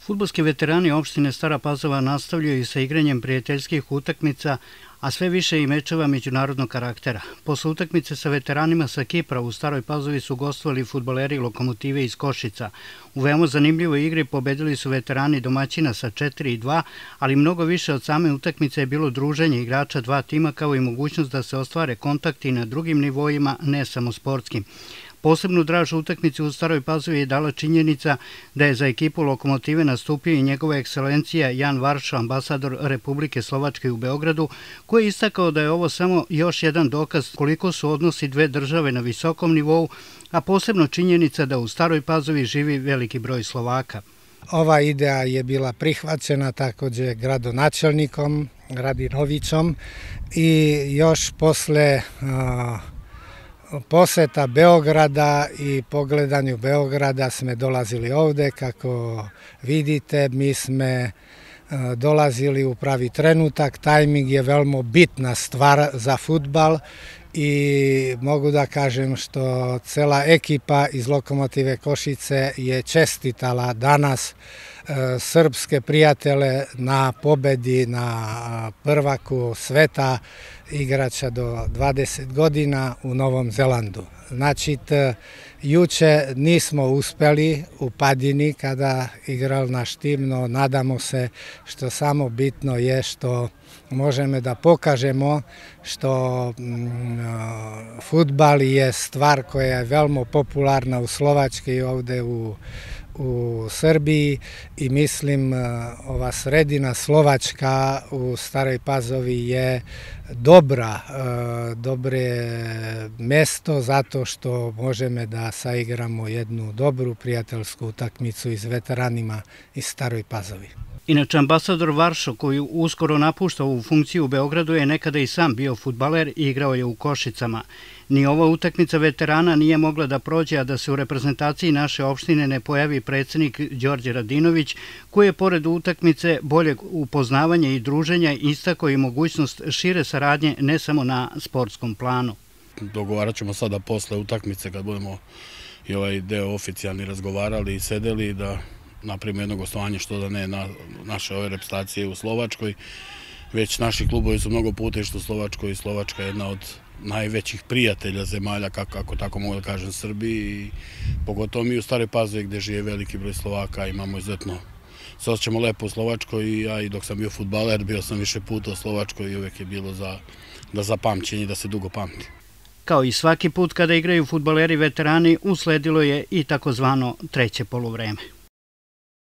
Fudbalski veterani opštine Stara Pazova nastavljaju sa igranjem prijateljskih utakmica, a sve više i mečeva međunarodnog karaktera. Posle utakmice sa veteranima sa Kipra u Staroj Pazovi su gostovali fudbaleri Lokomotive iz Košica. U veoma zanimljivoj igri pobedili su veterani domaćina sa 4:2, ali mnogo više od same utakmice je bilo druženje igrača dva tima kao i mogućnost da se ostvare kontakti na drugim nivoima, ne samo sportskim. Posebnu draž utakmicu u Staroj Pazovi je dala činjenica da je za ekipu Lokomotive nastupio i njegova ekscelencija Jan Varšo, ambasador Republike Slovačke u Beogradu, koji je istakao da je ovo samo još jedan dokaz koliko su odnosi dve države na visokom nivou, a posebno činjenica da u Staroj Pazovi živi veliki broj Slovaka. Ova ideja je bila prihvaćena također gradonačelnikom Radinovićom i još posle poseta Beograda i pogledanju Beograda sme dolazili ovde. Kako vidite, mi sme dolazili u pravi trenutak. Tajming je veoma bitna stvar za fudbal i mogu da kažem što cela ekipa iz Lokomotive Košice je čestitala danas srpske prijatele na pobedi na prvaku sveta igrača do 20 godina u Novom Zelandu. Znači, juče nismo uspeli u Padini kada igral naš tim, no nadamo se što samo bitno je što možemo da pokažemo što fudbal je stvar koja je veoma popularna u Slovačkoj i ovde u Srbiji i mislim ova sredina Slovačka u Staroj Pazovi je dobre mesto zato što možemo da saigramo jednu dobru prijateljsku utakmicu iz veteranima iz Staroj Pazovi. Inače, ambasador Varšo, koji uskoro napušta ovu funkciju u Beogradu, je nekada i sam bio fudbaler i igrao je u Košicama. Ni ova utakmica veterana nije mogla da prođe, a da se u reprezentaciji naše opštine ne pojavi predsjednik Đorđe Radinović, koji je pored utakmice boljeg upoznavanja i druženja istakao i mogućnost šire saradnje ne samo na sportskom planu. Dogovarat ćemo sada posle utakmice kad budemo i ovaj deo oficijalni razgovarali i sedeli da napravimo jedno gostovanje što da ne na naše ove reprezentacije u Slovačkoj. Već naši klubovi su mnogo puta išli u Slovačkoj i Slovačka je jedna od najvećih prijatelja zemalja, kako tako mogu da kažem, Srbiji. I pogotovo mi u Staroj Pazovi gde žive veliki broj Slovaka imamo izuzetno. Se osjećamo lepo u Slovačkoj i ja i dok sam bio fudbaler bio sam više puta u Slovačkoj i uvek je bilo da zapamćenje i da se dugo pamti. Kao i svaki put kada igraju fudbaleri veterani, usledilo je i takozvano treće poluvreme.